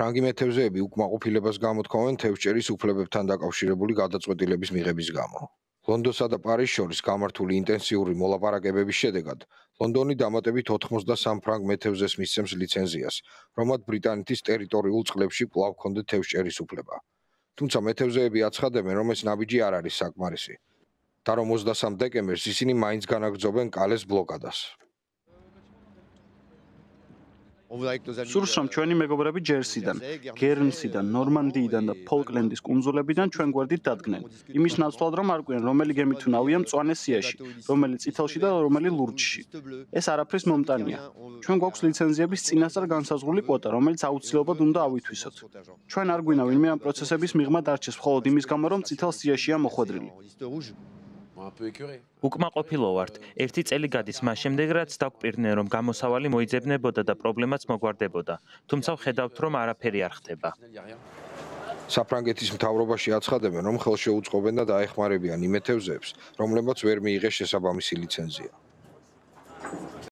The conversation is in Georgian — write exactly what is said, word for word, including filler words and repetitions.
ფრანგი მეთევზეები უკმაყოფილებას გამოთქვამენ თევზჭერის უფლებებთან დაკავშირებული გადაწყვეტილების მიღების გამო. ლონდონსა და პარიზს შორის გამართული ინტენსიური მოლაპარაკებების შედეგად ლონდონი დამატებით ოთხმოცდასამ ფრანგ მეთევზეს მისცემს ლიცენზიას, რომლად ბრიტანეთის ტერიტორიულ წყლებში კვლავ ჰქონდეთ თევზჭერის უფლება. თუმცა მეთევზეები აცხადებენ, რომ ეს ნაბიჯი არ არის საკმარისი და რომ ოცდასამ დეკემბერს ისინი მაინც განაგრძობენ კალეს ბლოკადას. სურს რომ ჩვენი მეგობრები ჯერსიდან, გერნსიდან, ნორმანდიიდან და ფოლკლენდის კუნძულებიდან ჩვენ გვერდით დადგნენ. იმის ნაცვლად რომ არ ყვიან რომელი გემი თუ ნავია მწვანე სიაში, რომელი წითელში და რომელი ლურჯში. ეს არაფრის მომტანია. ჩვენ გვაქვს ლიცენზიების წინასწარ განსაზღვრული კვოტა, რომელიც აუცილებლად უნდა ავითვისოთ. ჩვენ არ გვინა ვინმე ამ პროცესების მიღმა დარჩეს მხოლოდ იმის გამო, რომ წითელ სიაშია მოხვედრილი. უკმაყოფილო ვართ. ერთი წელი გადის მას შემდეგ, რაც დაგვპირდნენ, რომ გამოსავალი მოიძებნებოდა და პრობლემაც მოგვარდებოდა. თუმცა ვხედავთ, რომ არაფერი არ ხდება. საფრანგეთის მთავრობაში აცხადებენ, რომ ხელშეუწყობენ და დაეხმარებიან იმ მეთევზეებს, რომლებმაც ვერ მიიღეს შესაბამისი ლიცენზია.